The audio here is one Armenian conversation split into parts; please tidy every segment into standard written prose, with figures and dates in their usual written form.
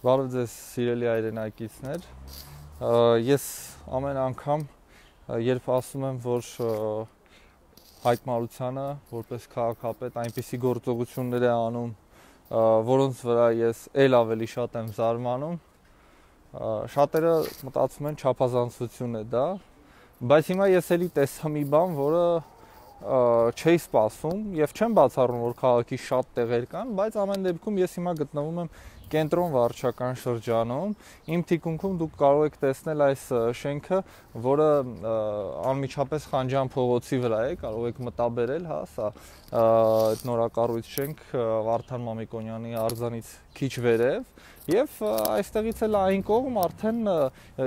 Բարև ձեզ սիրելի հայրենակիցներ, ես ամեն անգամ, երբ ասում եմ, որ Հայկ Մարությանը, որպես քաղաքապետ, այնպիսի գործողություններ է անում, որոնց վրա ես էլ ավելի շատ եմ զարմանում, շատերը մտածում են չափազանցություն է դա, բայց հիմա ես էլի տեսա մի բան, որը չէի սպասում եւ չեմ բացառում, որ քաղաքի շատ տեղեր կան, բայց ամեն դեպքում ես հիմա գտնվում եմ կենտրոն վարչական շրջանում, իմ թիկունքում դուք կարող եք տեսնել այս շենքը, որը անմիջապես Խանջյան փողոցի վրա է, կարող եք մտաբերել, հա, սա այդ նորակառույց շենք Վարդան Մամիկոնյանի արձանից քիչ վերև, եւ այստեղից էլ այն կողմ արդեն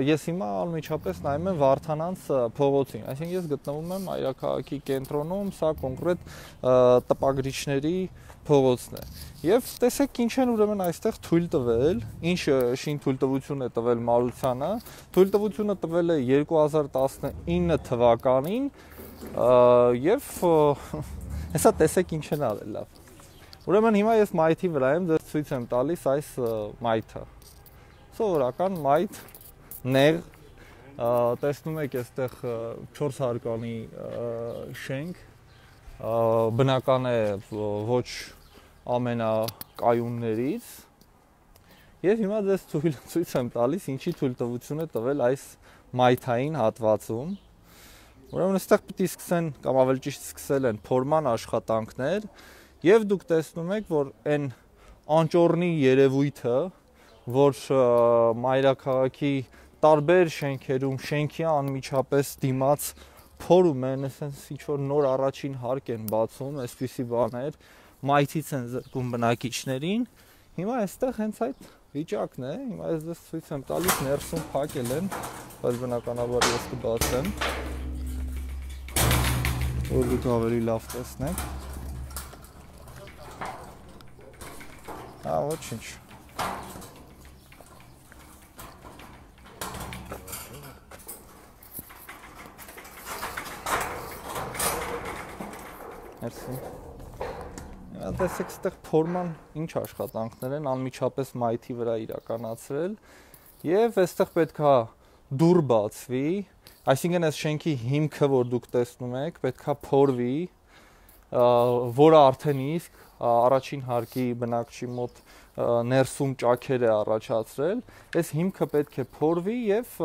ես հիմա անմիջապես նայում եմ Վարդանանց փողոցին, այսինքն ես գտնվում եմ Այրաքաղաքի կենտրոնում, սա կոնկրետ տպագրիչների փողոցն է։ Եվ տեսեք ինչ են ուրեմն այստեղ թույլ տվել, ինչ շին թույլտվություն է տվել Մարությանը, թույլտվությունը տվել է 2019 թվականին եւ հեսա տեսեք ինչ են արել լավ։ Ուրեմն հիմա ես մայթի վրա եմ, ձեզ ցույց եմ տալիս այս մայթը։ Սովորական մայթ, նեղ, տեսնում եք այստեղ 4 հարկանի շենք, բնական է ոչ ամենակայուններից եւ հիմա ձեզ ցույց եմ տալիս ինչի թույլտվություն է տվել այս մայթային հատվածում։ Ուրեմն այստեղ պիտի սկսեն կամ ավելի ճիշտ սկսել են փորման աշխատանքներ եւ դուք տեսնում եք, որ այն անճոռնի երևույթը, որ Մայրաքաղաքի տարբեր շենքերում շենքի անմիջապես դիմաց փորում են, ասենց ինչ որ նոր առաջին հարկ են բացում, այսպիսի բաներ, մայթից են զրկում բնակիչներին։ Հիմա այստեղ հենց այդ վիճակն է, հիմա ես դες ցույց եմ տալիս, ներսում փակել են, բայց բնականաբար ես կբացեմ, որ դուք ավելի լավ տեսնեք։ Հա, ոչինչ։ Մերսի։ Տեսեք, այստեղ փորման ինչ աշխատանքներ են անմիջապես մայթի վրա իրականացրել եւ այստեղ պետքա դուռ բացվի, այսինքն այս շենքի հիմքը, որ դուք տեսնում եք, պետքա փորվի, որը արդեն իսկ առաջին հարկի բնակչի մոտ ներսում ճաքեր է առաջացրել, այս հիմքը պետք է փորվի եւ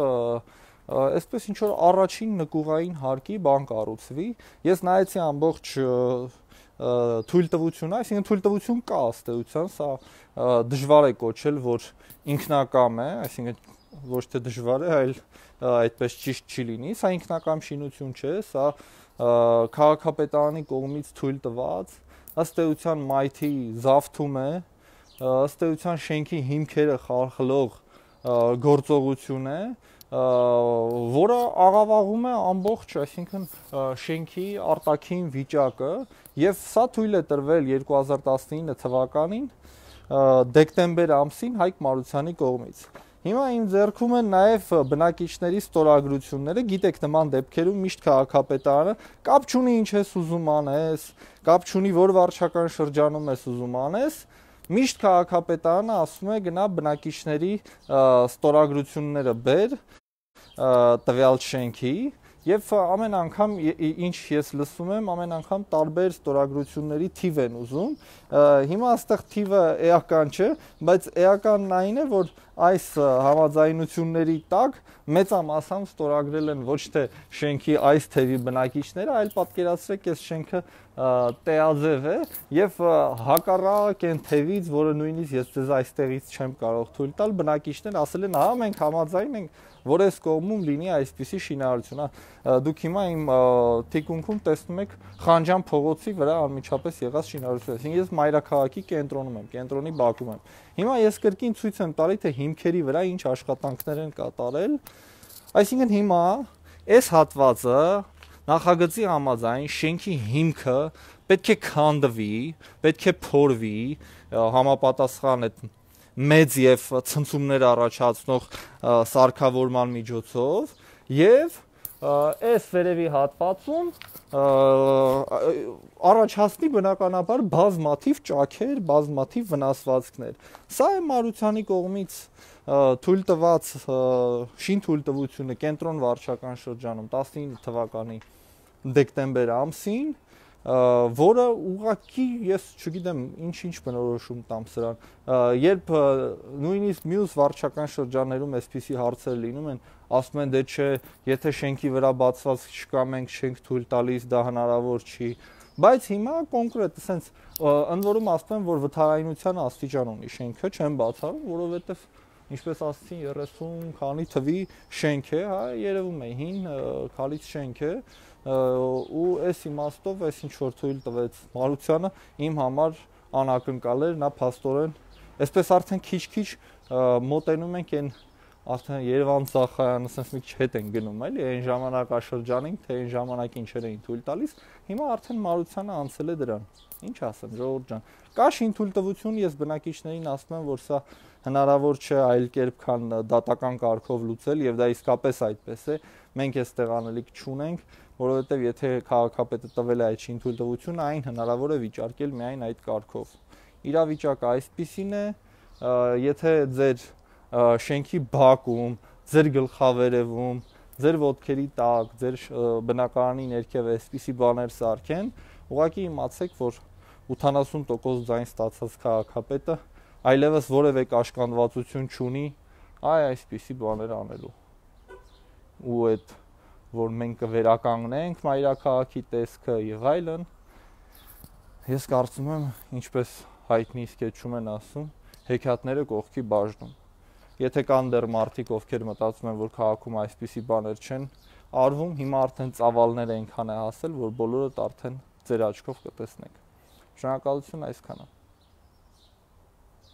այսպես ինչ որ առաջին նկուղային հարկի բան կառուցվի։ Ես նայեցի ամբողջ թույլտվությունը, այսինքն թույլտվություն կա ըստ էության, սա դժվար է կոչել, որ ինքնակամ է, այսինքն ոչ թե դժվար է, այլ այդպես ճիշտ չի լինի, սա ինքնակամ շինություն չէ, սա քաղաքապետարանի կողմից թույլ տված, ըստ էության մայթի զավթում է, ըստ էության շենքի հիմքերը խարխլող գործողություն է, որը աղավաղում է ամբողջ, այսինքն շենքի արտաքին վիճակը եւ սա թույլ է տրվել 2019 թվականին դեկտեմբեր ամսին Հայկ Մարությանի կողմից։ Հիմա իմ ձեռքում են նաև բնակիչների ստորագրությունները, գիտեք նման դեպքերում միշտ քաղաքապետարանը կապ չունի ինչ ես ուզում անես, կապ չունի որ վարչական շրջանում ես ուզում անես, միշտ քաղաքապետարանը ասում է գնա բնակիչների ստորագրությունները բեր տվյալ շենքի եւ ամեն անգամ ինչ ես լսում եմ, ամեն անգամ տարբեր ստորագրությունների թիվ են ուզում։ Հիմա այստեղ թիվը էական չէ, բայց էականն այն է, որ այս համաձայնությունների տակ մեծամասամբ ստորագրել են ոչ թե շենքի այս թևի բնակիչները, այլ պատկերացրեք, այս շենքը տեաձև է եւ հակառակ այն թևից, որը նույնիսկ ես ձեզ այստեղից չեմ կարող թույլ տալ, բնակիչներն ասել են, հա, մենք համաձայն ենք, որ այս կողմում լինի այսպիսի շինարարություն։ Դուք հիմա իմ թիկունքում տեսնում եք Խանջյան փողոցի վրա անմիջապես եղած շինարարություն։ Այսինքն ես Մայրաքաղաքի կենտրոնում եմ, կենտրոնի բակում եմ։ Հիմա ես կրկին ցույց եմ տալի, թե հիմքերի վրա ինչ աշխատանքներ են կատարել։ Այսինքն հիմա այս հատվածը նախագծի համաձայն շենքի հիմքը պետք է քանդվի, պետք է փորվի, համապատասխան այդ մեծ եւ ցնցումներ առաջացնող սարքավորման միջոցով եւ այս վերևի հատվածում առաջացնի բնականաբար բազմաթիվ ճաքեր, բազմաթիվ վնասվածքներ։ Սա է Մարությանի կողմից թույլ տված շինթույլտվությունը կենտրոն վարչական շրջանում 19 թվականի դեկտեմբեր ամսին, որը ուղղակի ես չգիտեմ ինչ բնորոշում տամ սրան, երբ նույնիսկ մյուս վարչական շրջաններում այսպիսի հարցեր լինում են, ասում են դե չէ, եթե շենքի վրա բացված չկա, մենք չենք թույլ տալիս, դա հնարավոր չի, բայց հիմա կոնկրետ ասենց ընդ որում ասում են, որ վթարայնության աստիճան ունի շենքը, չեն բացառում, որովհետև ինչպես ասացին 30 քանի թվի շենք է, հա, երևում է հին քալից շենք է, ու այս իմաստով այս ինչ որ թույլ տվեց Մարությանը իմ համար անակնկալ էր, նա փաստորեն այսպես արդեն քիչ-քիչ մոտենում ենք այն արդեն Երևան Ծախայանը ասես մի քիչ հետ են գնում, էլի այն ժամանակաշրջանին, թե այն ժամանակ ինչեր էին թույլ տալիս, հիմա արդեն Մարությանը անցել է դրան։ Ինչ ասեմ, ժողովուրդ ջան։ Կա շինթույլտվություն, ես բնակիչներին ասում եմ, որ սա հնարավոր չէ այլ կերպ քան դատական կարգով լուծել եւ դա իսկապես այդպես է։ Մենք այստեղ անելիք չունենք, որովհետեւ եթե քաղաքապետը տվել է այդ շինթույլտվությունը, այն հնարավոր է վիճարկել միայն այդ կարգով։ Իրավիճակը այսպիսին է, եթե ձեր շենքի բակում, ձեր գլխավերևում, ձեր ոտքերի տակ, ձեր բնակարանի ներքև այսպիսի բաներ սարքեն, ուղղակի իմացեք, որ 80% ձայն ստացած քաղաքապետը այլևս որևէ կաշկանդվածություն չունի այսպիսի բաներ անելու։ Ու այդ որ մենք կվերականգնենք մայրաքաղաքի տեսքը եւ այլն, ես կարծում եմ, ինչպես հայտնի սկեչում են ասում, հեքիաթները կողքի բաժնում։ Եթե կան դեռ մարդիկ, ովքեր մտածում են, որ քաղաքում այսպիսի բաներ չեն արվում, հիմա արդեն ծավալները այնքան է հասել, որ բոլորդ արդեն ձեր աչքով կտեսնեք։ Շնորհակալություն այսքանը։